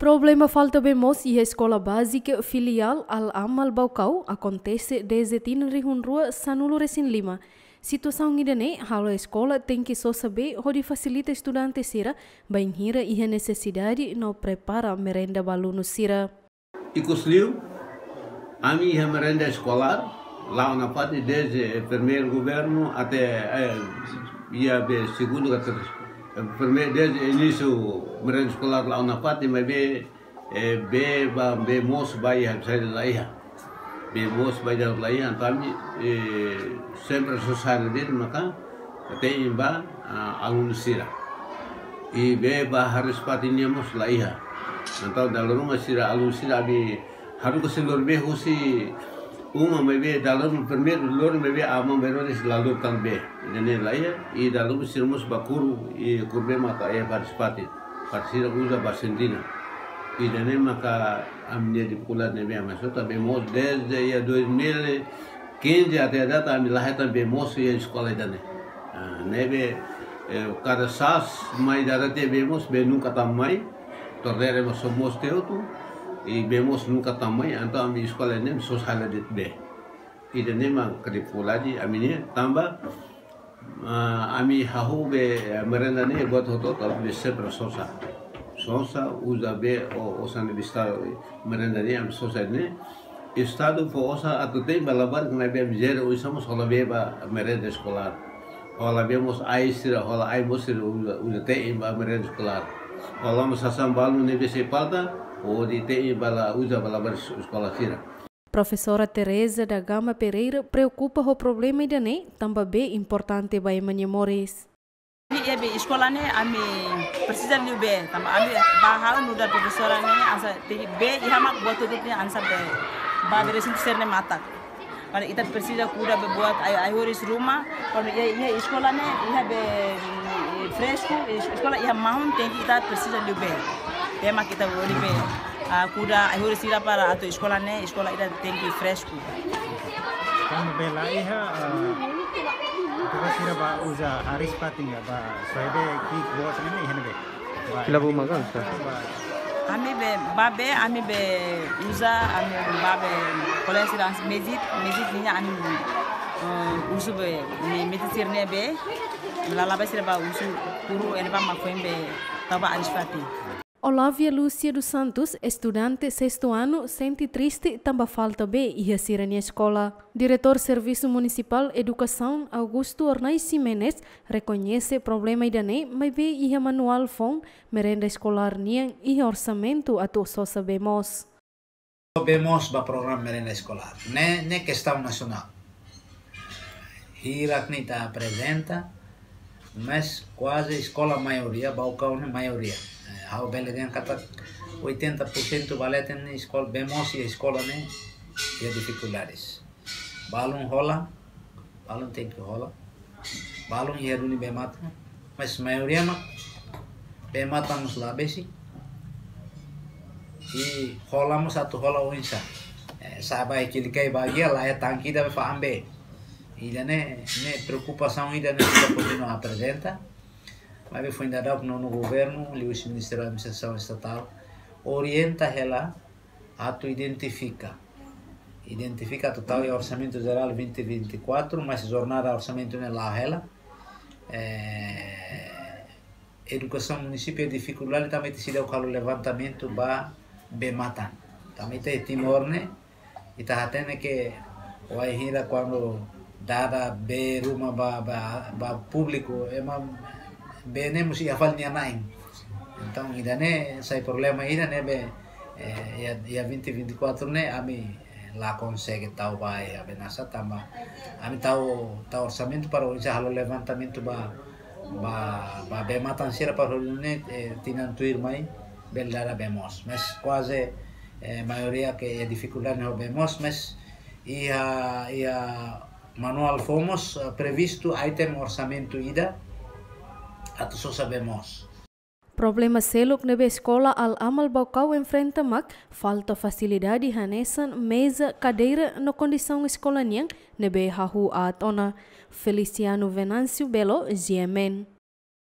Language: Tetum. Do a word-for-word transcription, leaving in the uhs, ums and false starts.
Problema falta bee moos iha Eskola Bázika Filiál Al Amal Baucau akontese dezde tinan rihun rua sanulu resin lima. Situasaun ida-ne'e halo eskola tenke sosa bee hodi fasilita estudante sira bainhira iha nesesidade no prepara merenda ba alunu sira. Ikusliu, ami iha merenda eskolár la'o nafatin dezde primeiru governu até, eh, iha bee segundu ka ter-, eh, primeiru dezde inísiu merenda eskolár la'o nafatin, maibé, eh, bee ba, bee moos ba iha, sai la iha. Bee moos ba iha la iha, entaun ami, eh, sempre sosa hela de'it maka te'in ba, ah, alunu sira. I bee ba hariis-fatin nian mós la iha. Entaun dala ruma sira alunu sira ami haruka sei lori bee husi uma maibé dala ruma primeiru lori maibé aman bee rona sira la lori tan bee. Ida-ne'e la iha, i dala ruma sira mós bá kuru, i kuru bee maka iha hariis-fatin. Para sira uza ba sentina. Ida-ne'e maka ami-nia difikuldade ne'ebé ami sota bee moos dezde iha dois mil e quinze até data ami la hetan bee moos iha eskola ida-ne'e. Ah, ne'ebé, eh, kada sas mai dada tiha bee moos, bee nunka tama mai, torneira mós só moos tiha hotu, i bee moos nunka tama mai, entaun ami eskola ne'e sosa hela de'it bee. Ida-ne'e mak difikuldade ami-nian tanba, ah, ami hahú bee, eh, merenda ne'e buat hotu-hotu ami sempre sosa. Sosa, uza bee, o, osan bista merenda ne'e ami sosa ne'e. Estadu fó osan atu te'in ba labarik ne'ebé ami jere oinsá mós hola bee ba merenda eskolár. Hola bee mós ai sira, hola ai moos sira uza, uza te'in ba merenda eskolár. Hola mós sasán balu ne'ebé sei falta, hodi te'in ba la uza ba labarik eskola sira. Profesora Teresa da Gama Pereira preokupa ho problema ida-ne'e, tanba bee importante ba ema nia moris. Iha bee eskola ne'e ami presiza liu bee, tanba ami ba ha'u nu'udar profesora ne'e hanesan tenke bee iha mak buat hotu-hotu hanesan bee. Ba bee resin serne matak. Para ita presiza kuda bee buat ai, ai-horis ruma, para iha, iha eskola ne'e iha bee, eh, fresku, es-, eskola iha mahon tenke ita presiza liu bee. Bee mak ita bele bee, ah, kuda ai-horis sira para atu eskola ne'e, eskola ida tenke fresku. Kuandu bee la iha, ah, atu sira bá uza hariis-fatin ka, bá soe bee ki'ik boot ne'e iha ne'ebé? Bá, fila iha buma ne'e kan, sa? Bá. Ami bee, ba bee, ami bee uza, ami ba bee kolega sira mezit, mezit nian ami, eh, uza bee, me-, mezit sira-nia bee, lala bee sira bá uza kuru, iha ne'ebá mak foin bee tau ba hariis-fatin. Olávia Lúcia dos Santos, estudante sestu anu, sente triste tanba falta bee iha sira-nia eskola. Diretór Servisu Munisipál Edukasaun, Augusto Ornai Ximenes, rekoñese problema ida-ne'e, maibé iha manuál foun merenda eskolár nian iha orsamentu atu sosa bee moos. Bee moos ba programa merenda eskolár. Ne'e, ne'e kestaun nasionál. Hirak ne'e ita aprezenta, mas kuaze eskola maioria, Baucau ne'e maioria. Eh, ha'u bele dehan katak oitenta por cento ba leten ne'e eskola, bee moos iha eskola ne'e iha difikuldades. Balun hola, balun tenke hola. Balun iha duni bee matan, mas maioria mak bee matan mós la besik. I hola mós atu hola oinsá. Eh, sa'e ba iha Kilikai bagian la iha tanke ida fa'an bee. Ida-ne'e, ne'e preokupasaun ida-ne'e ita kontinua aprezenta. Maibé foin daudauk nonu governu, liuhusi Ministériu Administrasaun Estatál, orienta hela atu identifika. Identifika atu tau iha Orsamentu Jerál vinte vinte e quatro, mas jornada orsamentu ne'e la'o hela. Eh, edukasaun munisípiu iha difikuldade tanba ita seidauk halo levantamentu ba bee matan. Tanba ita iha Timor ne'e, ita hatene ke wainhira kuandu dada bee ruma ba, ba, ba públiku, ema bee ne'e mós iha fali nia na'in. Entaun, ida-ne'e sai problema ida ne'ebé, eh, iha, iha vinte vinte e quatro ne'e ami, eh, la konsege tau ba iha bee nasa tanba ami tau, tau orsamentu para oinsá halo levantamentu ba, ba, ba bee matan sira para hodi nune'e, eh, tinan tuirmai bele dada bee moos. Mas kuaze, eh, maioria ke iha difikuldade ho bee moos, mas iha, iha manuál foun mós, eh, previstu item orsamentu ida atu sosa bee moos. Problema seluk ne'ebé Eskola Al Amal Baucau enfrenta mak falta fasilidade hanesan meza, kadeira no kondisaun eskola nian ne'ebé hahú aat ona. Feliciano Venâncio Belo, G M N.